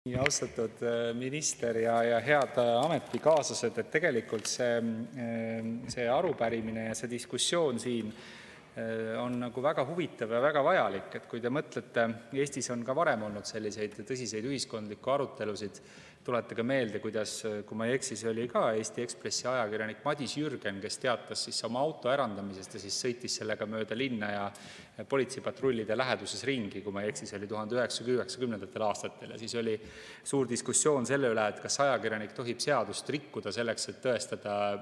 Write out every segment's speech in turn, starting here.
Nii, austatud minister ja head ametikaaslased, et tegelikult see arupärimine ja see diskussioon siin on nagu väga huvitav ja väga vajalik. Et kui te mõtlete, Eestis on ka varem olnud selliseid tõsiseid ühiskondlikke arutelusid. Tuletage meelde, kuidas, kui ma ei eksi, see oli ka Eesti Ekspressi ajakirjanik Madis Jürgen, kes teatas siis oma auto ärandamisest ja siis sõitis sellega mööda linna ja politseipatrullide läheduses ringi, kui ma ei eksi, see oli 1990. aastatel. Ja siis oli suur diskussioon selle üle, et kas ajakirjanik tohib seadust rikkuda selleks, et tõestada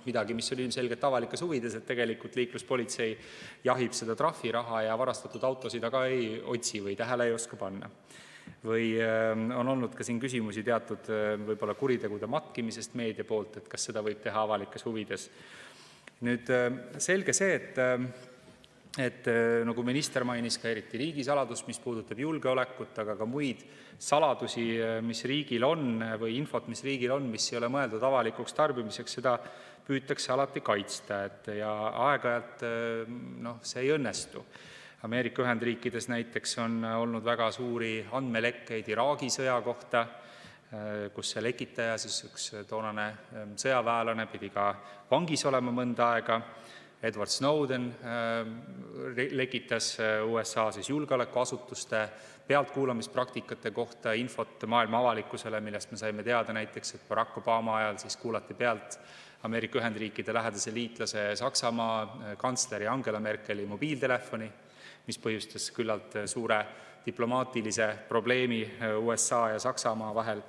midagi, mis oli ilmselgelt avalikes huvides, et tegelikult liikluspolitsei jahib seda trahviraha ja varastatud autosid aga ei otsi või tähele ei oska panna. Või on olnud ka siin küsimusi teatud võib-olla kuritegude matkimisest meedia poolt, et kas seda võib teha avalikes huvides. Nüüd selge see, et nagu minister mainis, ka eriti riigisaladus, mis puudutab julgeolekut, aga ka muid saladusi, mis riigil on, või infot, mis riigil on, mis ei ole mõeldud avalikuks tarbimiseks, seda püütakse alati kaitsta. Ja aeg-ajalt see ei õnnestu. Ameerika Ühendriikides näiteks on olnud väga suuri andmelekkeid Iraagi sõja kohta, kus see lekitaja, siis üks toonane sõjaväelane pidi ka vangis olema mõnda aega. Edward Snowden lekitas USA julgeolekuasutuste pealtkuulamispraktikate kohta infot maailma avalikkusele, millest me saime teada näiteks, et Barack Obama ajal siis kuulati pealt Ameerika Ühendriikide lähedase liitlase Saksamaa kantsleri Angela Merkeli mobiiltelefoni, mis põhjustas küllalt suure diplomaatilise probleemi USA ja Saksamaa vahel.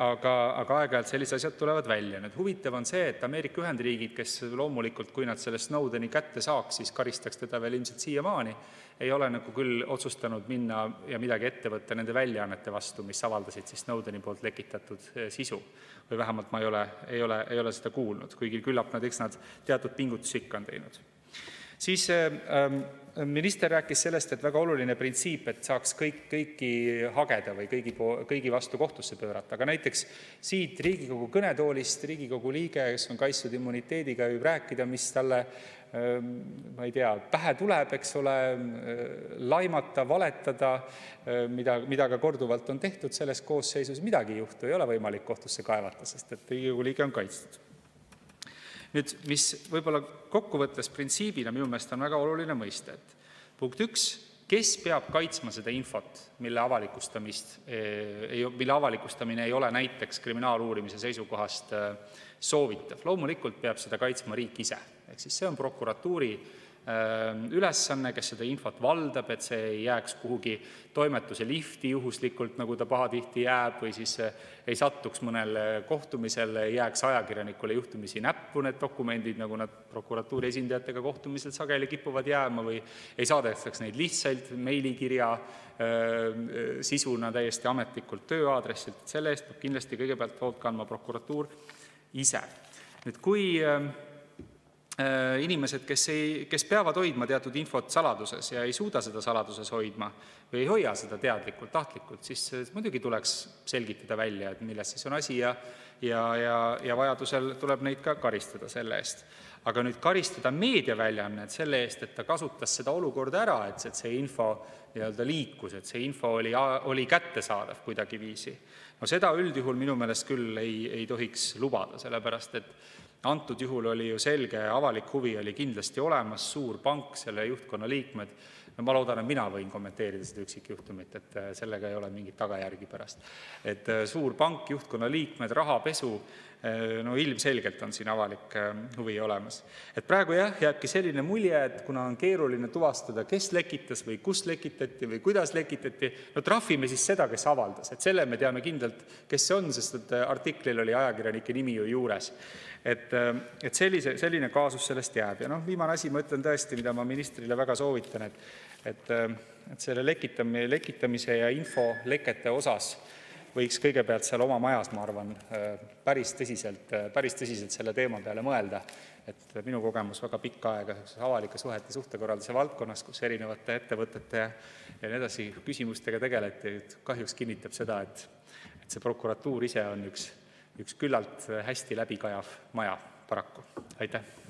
Aga aeg-ajalt sellised asjad tulevad välja. Nüüd huvitav on see, et Ameerika Ühendriigid, kes loomulikult, kui nad selle Snowdeni kätte saaks, siis karistaks teda veel ilmselt siiamaani, ei ole nagu küll otsustanud minna ja midagi ette võtta nende väljaannete vastu, mis avaldasid siis Snowdeni poolt lekitatud sisu. Või vähemalt ma ei ole seda kuulnud, kuigi küllap nad teatud pingutusi ikka on teinud. Siis minister rääkis sellest, et väga oluline printsiip, et saaks kõiki hageda või kõigi vastu kohtusse pöörata. Aga näiteks siit Riigikogu kõnetoolist Riigikogu liige, kes on kaitstud immuniteediga, võib rääkida, mis talle, ma ei tea, pähe tuleb, eks ole, laimata, valetada, mida ka korduvalt on tehtud selles koosseisus, midagi ei juhtu, ei ole võimalik kohtusse kaevata, sest et Riigikogu liige on kaitstud. Nüüd, mis võib-olla kokkuvõttes printsiibina minu meelest on väga oluline mõista, et punkt 1, kes peab kaitsma seda infot, mille avalikustamine ei ole näiteks kriminaaluurimise seisukohast soovitav. Loomulikult peab seda kaitsma riik ise. Ehk siis see on prokuratuuri ülesanne, kes seda infot valdab, et see ei jääks kuhugi toimetuse lifti juhuslikult, nagu ta pahatihti jääb, või siis ei sattuks mõnel kohtumisel, ei jääks ajakirjanikule juhtumisi näppu need dokumendid, nagu nad prokuratuuri esindajatega kohtumisel sageli kipuvad jääma, või ei saadetaks neid lihtsalt meilikirja sisuna täiesti ametlikult tööaadressilt. Selle eest peab kindlasti kõigepealt hoolt kandma prokuratuur ise. Nüüd, kui inimesed, kes peavad hoidma teatud infot saladuses ja ei suuda seda saladuses hoidma või ei hoia seda teadlikult, tahtlikult, siis muidugi tuleks selgitada välja, et milles siis on asi ja vajadusel tuleb neid ka karistada selle eest. Aga nüüd karistada meediaväljaannet selle eest, et ta kasutas seda olukorda ära, et see info liikus, et see info oli kättesaadav kuidagi viisi. No seda üldjuhul minu meelest küll ei tohiks lubada, sellepärast et antud juhul oli ju selge, avalik huvi oli kindlasti olemas, suur pank, selle juhtkonna liikmed. Ma loodan, et mina võin kommenteerida seda üksikjuhtumit, et sellega ei ole mingit tagajärgi pärast. Et suur pank, juhtkonna liikmed, rahapesu, ilmselgelt on siin avalik huvi olemas. Et praegu jääbki selline mulje, et kuna on keeruline tuvastada, kes lekitas või kus lekitati või kuidas lekitati, trahvime siis seda, kes avaldas. Et selle me teame kindlalt, kes see on, sest et artiklil oli ajakirjanike nimi ju juures. Et selline kaasus sellest jääb. Ja viimane asi, ma ütlen tõesti, mida ma ministrile väga soovitan, et selle lekitamise ja infolekete osas võiks kõigepealt seal oma majas, ma arvan, päris tõsiselt selle teema peale mõelda. Et minu kogemus väga pikka aega avalike suhete suhtekorralduse valdkonnas, kus erinevate ettevõtete ja nii edasi küsimustega tegeleti, kahjuks kinnitab seda, et see prokuratuur ise on üks küllalt hästi läbikajav maja paraku. Aitäh!